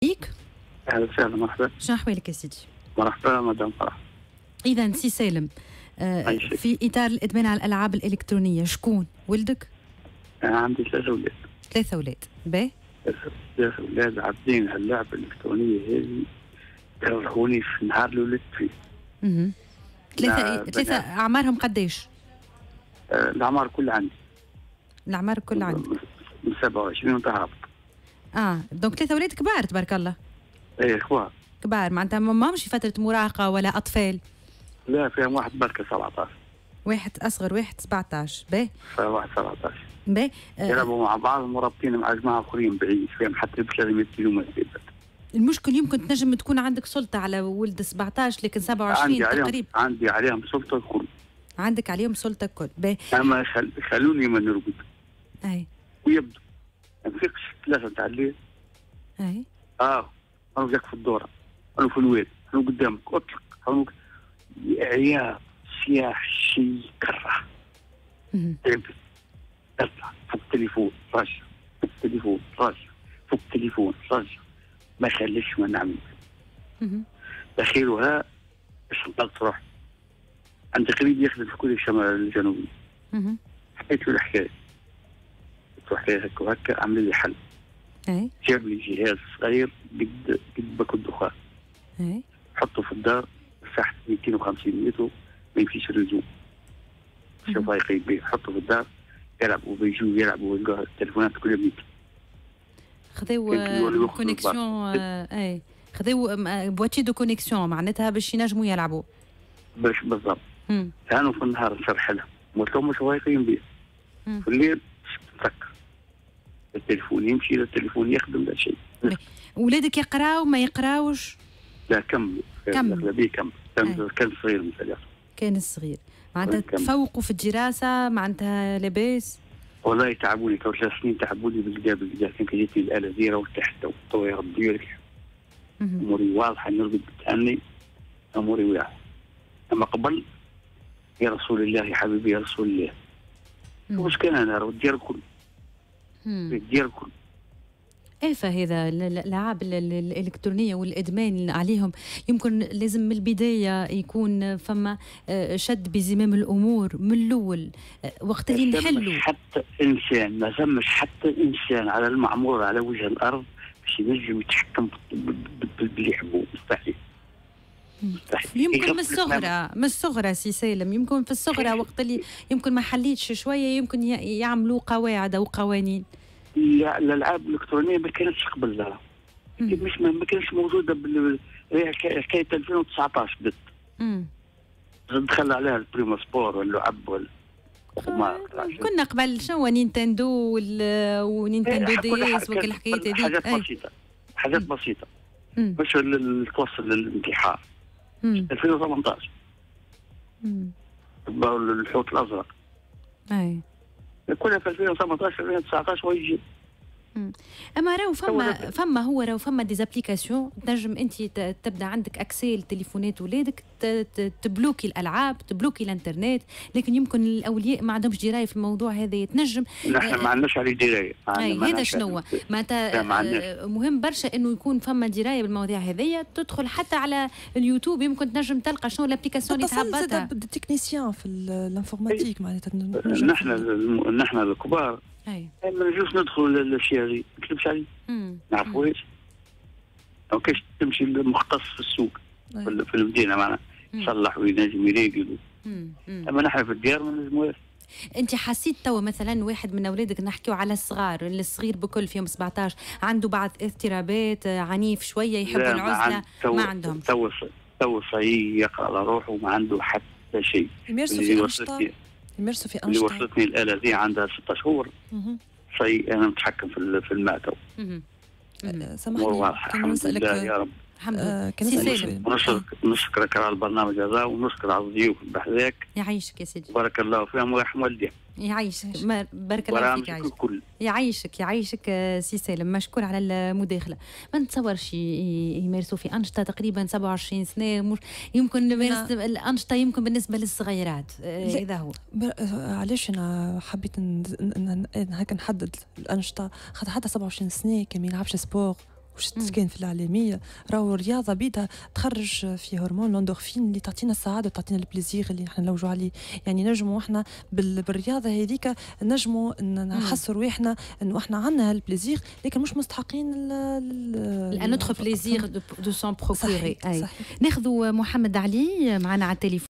بيك. اهلا وسهلا، مرحبا. شنو احوالك يا سيدي؟ مرحبا مدام فرح. اذا سي سالم، في اطار الادمان على الالعاب الالكترونيه، شكون ولدك؟ انا عندي ثلاثة اولاد. ثلاثة اولاد، باهي. ثلاثة اولاد عابدين هاللعبة الالكترونية هذه، كرهوني في النهار اللي ولدت فيه. ثلاثه ثلاثه، اعمارهم قداش؟ الاعمار كلها عندي. الاعمار كلها عندك. من 27 وانت هابط. Donc ثلاثة اولاد كبار تبارك الله. ايه، كبار. كبار، معناتها ما مش في فترة مراهقة ولا اطفال. لا، فيهم واحد بركة 17. واحد اصغر واحد 17، باهي. واحد 17. باهي. يلعبوا مع بعض مرابطين مع جماعة اخرين بعيد، فيهم حتى ب 300 كيلومتر. المشكل يمكن تنجم تكون عندك سلطة على ولد 17، لكن 27 عندي عليهم تقريبا. عندي عليهم سلطة الكل. عندك عليهم سلطة الكل، باهي. اما خلوني ما نرقد. ويبدو ما نفيقش 3 تاع الليل. انا جاك في الدوره، انا في الواد، انا قدامك، اطلق، انا عياط، صياح، شيء كره. تعبت، اطلع فك التليفون رجع، فك التليفون رجع، فك التليفون رجع، ما خليش ما نعمل. اخيرها باش نطلق روحي، عندي قريب يخدم في كل الشمال الجنوبي. حكيت له الحكايه، قلت له حكاية هكا وهكا، عمل لي حل. جاب لي جهاز صغير قد قد باكو الدخان. حطه في الدار، مساحة 250 متر، ما يمشيش réseau. شوف يقيم به، حطه في الدار، يلعبوا بيجوا يلعبوا التليفونات كل يوم. خذاو connexion، اي، خذاو boîtier de connexion معناتها باش ينجموا يلعبوا. باش بالضبط. كانوا في النهار نشرح لهم، قلت لهم مش هو يقيم به. في الليل تسكر، التليفون يمشي، لا التليفون يخدم لا شيء. ولادك يقراو ما يقراوش؟ لا، كملوا. كملوا. الأغلبية كمل، كان صغير مثلا. كان الصغير معناتها كمل. تفوقوا في الدراسة، معناتها لاباس؟ والله تعبوني تو 3 سنين، تعبوني بالكدا بالكدا. كان جاتني الآلة زيرة وارتحت تو يا ربي لك. اموري واضحه، نرقد بتأني، اموري واضحه. اما قبل، يا رسول الله، يا حبيبي يا رسول الله. مش كان انا راه الديار الكل. الديار الكل. ايه، فهذا الالعاب الالكترونية والادمان عليهم يمكن لازم من البداية يكون فما شد بزمام الامور من الاول، وقت اللي ما ثمش نحلوا. حتى انسان، ما ثمش حتى انسان على المعمور على وجه الارض باش ينجم يتحكم باللي يحبوه، مستحيل مستحيل. يمكن من يغفلك. الصغرى، من الصغرى سي سالم، يمكن في الصغرى وقت اللي يمكن ما حليتش شويه، يمكن يعملوا قواعد او قوانين. لا، الالعاب الالكترونية ما كانتش قبل، لا. مش ما كانتش موجوده هي حكاية 2019 بدت. دخل عليها البريمو سبور واللعب وال قمار. كنا قبل شنو، نينتندو ونينتندو DS وكل الحكايات هذيك. حاجات بسيطه، حاجات بسيطه، مش اللي توصل للانتحار. 2018 الحوت الازرق. كلها في 2018 2019 ويجي. اما راهو فما هو راهو فما des applications تنجم انت تبدا عندك accès لتليفونات ولادك، تبلوكي الالعاب، تبلوكي الانترنت، لكن يمكن الاولياء ما عندهمش دراية في الموضوع هذا، تنجم نحن ما عندناش عليه درايه. اي، هذا شنو معناتها. لا، ما عندناش. مهم برشا انه يكون فما دراية بالمواضيع هذيا، تدخل حتى على اليوتيوب يمكن تنجم تلقى شنو l'application اللي تتصل تهبطها. زاد بال technicien في l'informatique معناتها. نحن الكبار ما نجوش ندخلوا للاشياء هذه، ما نكذبش عليك. نعرفوهاش. او كاش تمشي للمختص في السوق في المدينة معناها يصلح وينجم يريقل. اما نحن في الديار ما نجموش. انت حسيت توا مثلا واحد من اولادك، نحكيو على الصغار، الصغير بكل فيهم 17، عنده بعض اضطرابات، عنيف شويه، يحب لا، العزله؟ ما عندهم؟ تو صحيح، يقرا على روحه وما عنده حتى شيء. يمارسوا اللي في انشطه، يمارسوا في اللي انشطه. وصلتني الاله دي عندها 6 شهور. صحيح، انا متحكم في الماء تو. سامحني، واضحة. كان الحمد نسالك لله يا رب. الحمد لله. كان سي نسألك سالم. شوية. نشكرك على البرنامج هذا ونشكر على الضيوف بحذاك. يعيشك يا سيدي. بارك الله فيهم ويرحم والديهم. يعيشك، بارك الله فيك. برامجك يعيشك. الكل. يعيشك يعيشك، سي سالم، مشكور على المداخله. ما نتصورش يمارسوا في انشطه، تقريبا 27 سنه، مش يمكن يمارس الانشطه، يمكن بالنسبة للصغيرات. لا. اذا هو علاش انا حبيت هكا نحدد الانشطه؟ خاطر حتى 27 سنة كان ما يلعبش sport. مش كان في الاعلاميه، راهو الرياضة بيدها تخرج في هرمون l'endorphine اللي تعطينا السعادة وتعطينا ال plaisir اللي نحن نلوجوا عليه. يعني نجموا احنا بالرياضة هذيك نجموا نحسوا رواحنا انه احنا عندنا هال plaisir، لكن مش مستحقين un autre plaisir de s'en procurer. ناخذوا محمد علي معنا على التليفون.